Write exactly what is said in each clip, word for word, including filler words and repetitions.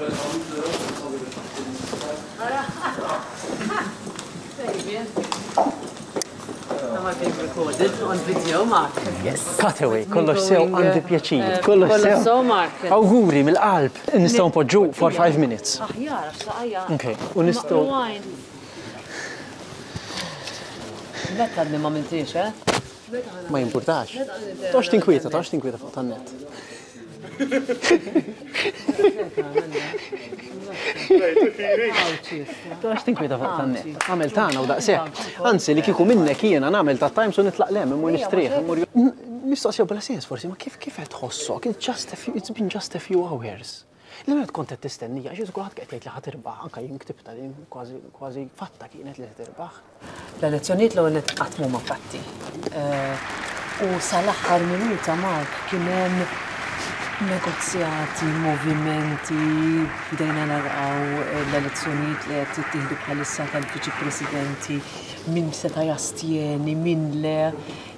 Am I being recorded on video, Mark? Yes. Cutaway, kollox sew, għandi pjaċir. Kollox Kollox sew. sew, Mark. Awguri mill-qalb. Nistgħu npoġġu for five minutes. Aħjar, għax saqajja. Okay, u nistgħu- Rewind. Meta għadni ma mintix, eh? Ma jimpurtax. Toqgħodx tinkwieta, toqgħodx tinkwieta fuq tan-net. Toqgħodx tinkwieta fuq tan-net. Għamel tagħna u daqshekk. Anzi, li kieku minnek jiena nagħmel ta' Times u nitlaq lem, immur nistrieħ, immur Mistoqsija bla sens forsi, ma kif kif qed tħossok? It's just a few, it's been just a few hours. Li meta kont qed tistennija, għax kulħadd qed jgħid li ħa tirbaħ, anke jien ktibta li kważi kważi fatta kienet li tirbaħ. L-elezzjonijiet l-ewwel nett qatt m'huma fatti. U sal-aħħar minuta, Mark, kien hemm negozjati, movimenti, bdejna naraw l-elezzjonijiet li qed jittieħdu bħalissa tal-viċi presidenti, min seta' jastjeni, min le,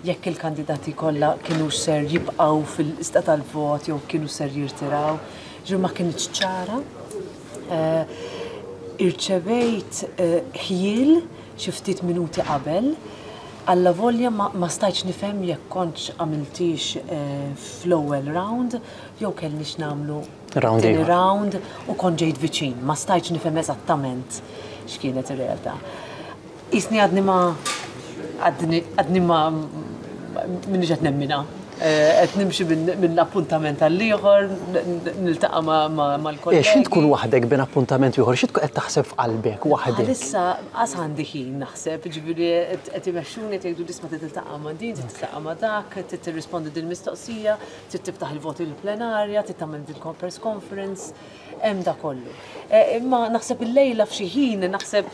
jekk il-kandidati kollha kienu ser jibqgħu fil-lista tal-vot jew kienu ser jirtiraw. Ġifieri ma kinitx ċara. Irċevejt ħjiel xi ftit minuti qabel, alla volja ma, ma stajtx nifhem jekk kontx għamiltix fl-ewwel round jew kellniex nagħmlu Round tieni ieħor. round u kont ġejt viċin, ma stajtx nifhem eżattament x'kienet ir-realtà. Isni għadni ma għadni għadni ma minni qed nemmina. Qed nimxi minn appuntament għal ieħor, niltaqa' mal-kollegi. X'int tkun waħdek bejn appuntament ieħor, xi tkun qed taħseb f'qalbek waħdek? Issa qas għandi ħin naħseb, ġifieri qed imexxuni qed jgħidu isma' trid tiltaqa' ma' din, trid tiltaqa' ma' dak, trid tirrispondi din mistoqsija, trid tiftaħ il-voti l-plenarja, trid tagħmel din press conference, hemm da kollu. Imma naħseb illejla f'xi ħin naħseb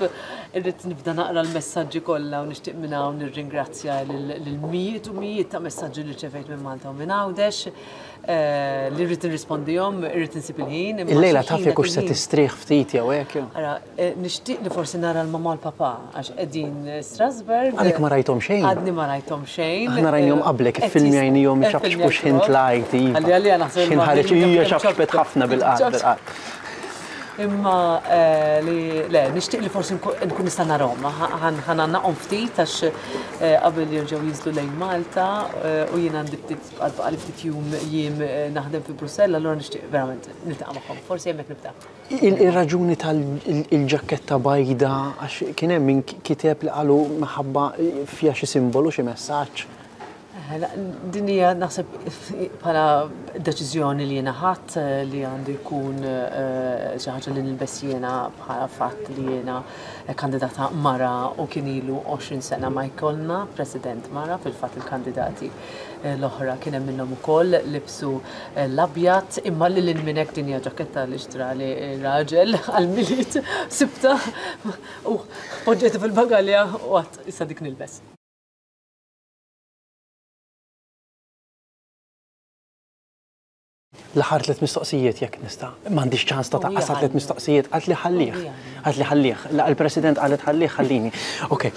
irrid nibda naqra l-messaġġi kollha u nixtieq minn hawn nirringrazzja lil mijiet u mijiet ta' messaġġi li rċevejt minn Malta u minn Għawdex, li rrid nirrispondihom, irrid insib il-ħin. Illejla taf jekk hux se tistrieħ ftit jew hekk jew. Ara, nixtieq li forsi nara l-mamma u l-papà għax qegħdin Strasburg. Għalek ma rajthom xejn. Għadni ma rajthom xejn. Aħna rajnihom qablek, iffilmjajnihom ċapċpu x'ħin tlajt, iva. Għalli għalli naħseb X'ħin ħareġ hija ċapċpet ħafna bil-qalb bil-qalb. Imma li le, nixtieq li forsi nkun nista' narahom, ħa ngħannaqhom ftit għax qabel jerġgħu jinżlu lejn Malta u jien għandi ftit għal ftit jum jiem naħdem fi Brussell, allura nixtieq verament niltaqa' magħhom. Forsi hemmhekk nibda. Il-raġuni tal-ġaketta bajda, għax kien hemm min kiteb li qalu minħabba fiha xi simbolu, xi messaġġ. Din hija naħseb bħala deċiżjoni li jiena ħadd li għandu jkun xi ħaġa li nilbes jiena bħala fatt li jiena kandidata mara u kien ilu għoxrin sena ma jkollna president mara, fil-fatt il-kandidati l-oħra kien hemm minnhom ukoll libsu l-abjad, imma lil hinn minn hekk din hija ġaketta li xtrali raġel għall-Milied sibta u poġġejtha fil-bagalja u għad issa dik nilbes. L-aħħar tliet mistoqsijiet jekk nista'. M'għandix ċans ta' taqqas tliet mistoqsijiet, qalt li ħallih. Qalt li ħallih. La il-President qalet ħallih, ħallini. Ok.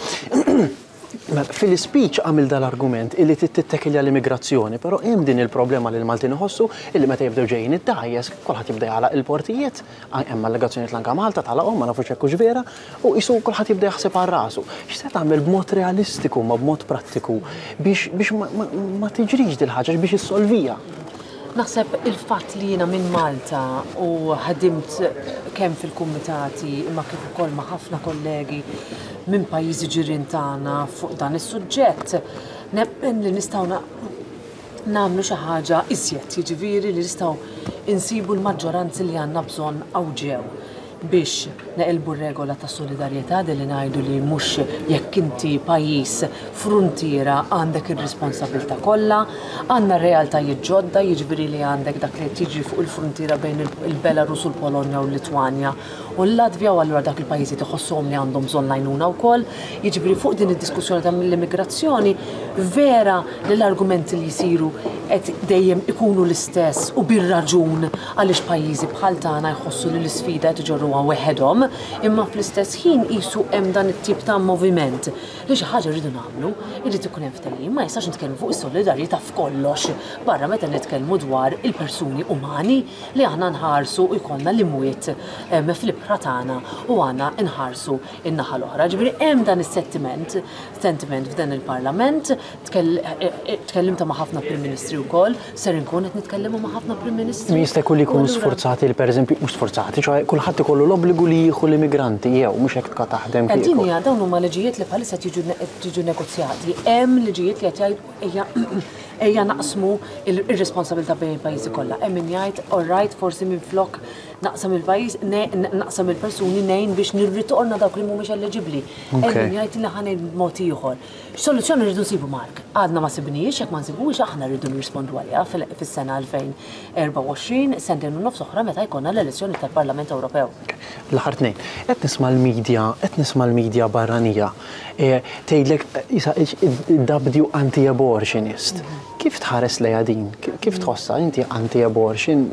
Fil-speech għamil dal-argument illi tittekilja l-immigrazzjoni, però hemm din il-problema li l-Maltin iħossu illi meta jibdew ġejjin id-dgħajjes, kulħadd jibda jagħlaq il-portijiet, hemm allegazzjonijiet l-anka Malta tagħlaqhom, ma nafux hekk hux vera, u qisu kulħadd jibda jaħseb għal rasu. X'se tagħmel b'mod realistiku ma b'mod prattiku biex biex ma tiġrix dil-ħaġa biex issolvija? Naħseb il-fatt li jiena minn Malta u ħadimt kemm fil-kumitati imma kif ukoll ma' ħafna kollegi minn pajjiżi ġirien tagħna fuq dan is-suġġett, nemmen li nistgħu nagħmlu xi ħaġa iżjed, jiġifieri li nistgħu insibu l-maġġoranzi li għandna bżonn hawn ġew biex neqilbu r-regola ta' solidarjetà li ngħidu li mhux jekk inti pajjiż fruntiera għandek ir-responsabilità kollha, għandna realtajiet ġodda, jiġifieri li għandek dak li qed jiġri fuq il-fruntiera bejn il-Belarus u l-Polonja u l-Litwanja u l-Latvja, u allura dak il-pajjiżi tħossuhom li għandhom bżonn l-għajnuna wkoll. Jiġifieri fuq din id-diskussjoni ta' l-immigrazzjoni vera li l-argumenti li jsiru qed dejjem ikunu l-istess u bir-raġun għaliex pajjiżi bħal tagħna jħossu li l-isfida qed iġorruha jagħmluha weħedhom, imma fl-istess ħin qisu hemm dan it-tip ta' moviment li xi ħaġa rridu nagħmlu, irid ikun hemm ftehim, ma jistax nitkellmu fuq is-solidarjetà f'kollox barra meta nitkellmu dwar il-persuni umani li aħna nħarsu u jkollna l-imwiet fl-ibħra tagħna u għandna nħarsu in-naħa l-oħra. Ġifieri hemm dan is-sentiment, sentiment f'dan il-Parlament, tkellimta ma' ħafna Prim Ministri wkoll, ser inkun qed nitkellmu ma' ħafna Prim Ministri. Min jista' jkun li jkunu sforzati li pereżempju mhux sforzati, ċoè kulħadd ikollu l-obbligu li jieħu l-immigranti jew mhux hekk tkun taħdem kieku. Din hija dawn huma liġijiet li bħalissa jiġu negozjati. Hemm liġijiet li qed jgħidu ejja ejja naqsmu ir-responsabilità bejn il-pajjiżi kollha. Hemm min jgħid all right, forsi minflok naqsam il-pajjiż, naqsam il-persuni ngħin biex nirritorna dawk li mhumiex eliġibbli. Hemm min jgħid li ħa ngħin b'mod ieħor. X'soluzzjoni rridu nsibu, Mark? Għadna ma sibniex, jekk ma nsibux aħna rridu nirrispondu għaliha fis-sena elfejn erbgħa u għoxrin, sentejn u nofs oħra meta jkollna l-elezzjoni tal-Parlament Ewropew. L-aħħar tnejn. Qed nisma' l-medja, qed nisma' l-medja barranija tgħidlek id-W anti-abortionist. Kif tħares lejha din? Kif tħossha inti anti-abortion?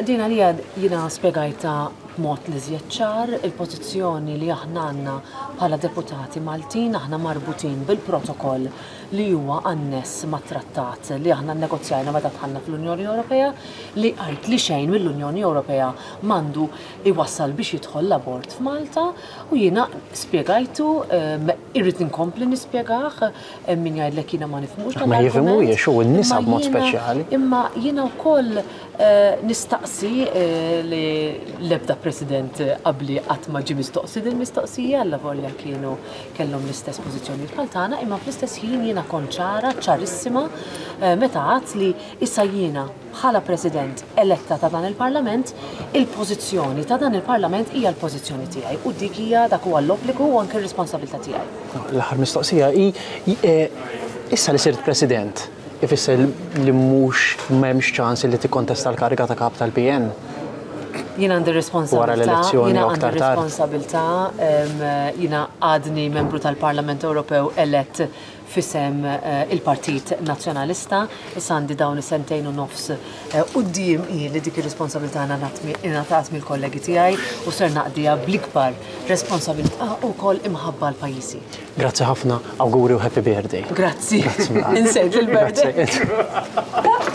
Din għalija jiena spjegajta b'mod li żjed ċar il-pożizzjoni li aħna għandna bħala deputati Maltin, aħna marbutin bil-protokoll li huwa anness mat-trattat li aħna nnegozjajna meta dħalna fl-Unjoni Ewropea, li għajt li xejn mill-Unjoni Ewropea m'għandu iwassal biex jidħol l-abort f'Malta, u jiena spjegajtu, irrid inkompli nispjegah, min jgħidlek jiena ma nifhmux dan Ma l-argument. jifhmuhiex u n-nisa Imma b'mod jiena speċjali. Imma jiena wkoll nistaqsi li l-ebda president qabli qatt ma ġie mistoqsi din mistoqsija, alla volja kienu kellhom l-istess pożizzjoni bħal tagħna, imma fl-istess ħin jiena kont ċara, ċarissima, meta għadt li issa jiena bħala president eletta ta' dan il-Parlament, il-pożizzjoni ta' dan il-Parlament hija l-pożizzjoni tiegħi u dik hija dak huwa l-obbligu u anke r-responsabilità tiegħi. L-aħħar mistoqsija hi, issa li sirt president, ifisser li mhux m'hemmx ċans li tikkontesta l-kariga ta' kap tal-P N? Jiena għandi responsabilità, Wara l-elezzjoni jiena u aktar għandi tard. responsabilità, jiena għadni membru tal-Parlament Ewropew elett fisem il-Partit Nazzjonalista, issa għandi dawn is-sentejn u nofs quddiem hi li dik ir-responsabilità ingħatat mill-kollegi tiegħi u ser naqdiha bl-ikbar responsabilità wkoll imħabba l-pajjiżi. Grazzi ħafna, awguri u happy birthday. Grazzi. Grazzi mill-qalb. Insejt il-birthday. Grazzi.